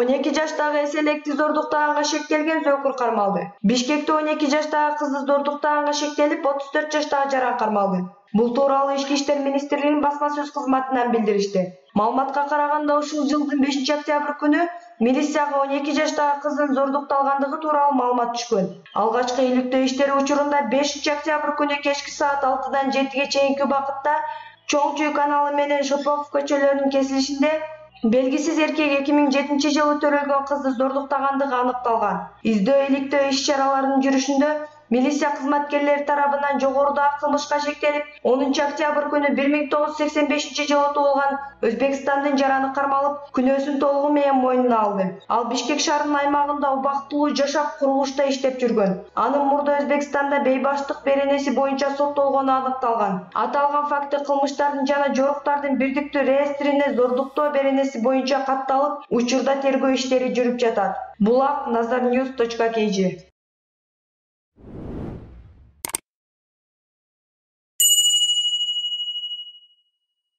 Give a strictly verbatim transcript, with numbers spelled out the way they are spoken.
он эки жаштагы эселекти зордуктаганга шектелген Зөкүр кармалды. Бишкекте он эки жаштагы кызды зордуктаганга шектелип, отуз төрт жаштагы жаран кармалды. Бул тууралуу Ички иштер министрлигинин басма-сөз кызматынан билдиришти. Маалыматка караганда, ушул жылдын бешинчи октябрь күнү милицияга он эки жаштагы кыздын зордукталгандыгы тууралуу маалымат түшкөн. Алгачкы иликтөө иштери учурунда бешинчи октябрь күнү кечки саат алтыдан жетиге чейинки убакытта Чоң Чүй каналы менен Шопоков көчөлөрүнүн кесилишинде белгисиз эркек эки миң жетинчи жылы төрөлгөн кызды зордуктагандыгы аныкталган. Издөө иликтөө иш-чараларынын жүрүшүндө милиция кызматкерлери тарабынан жогорудагы кылмышка шектелип, онунчу октябрь күнү бир миң тогуз жүз сексен бешинчи жылы туулган Өзбекстандын жараны кармалып, күнөөсүн толугу менен мойнуна алды. Ал Бишкек шаарынын аймагында убактылуу жашап курулушта иштеп жүргөн. Анын мурда Өзбекстанда бейбаштык беренеси боюнча соттолгону аныкталган. Аталган факты кылмыштардын жана жоруктардын бирдиктүү реестрине зордуктоо беренеси боюнча катталып, учурда тергөө иштери жүрүп жатат. Булак Nazarnews точка kg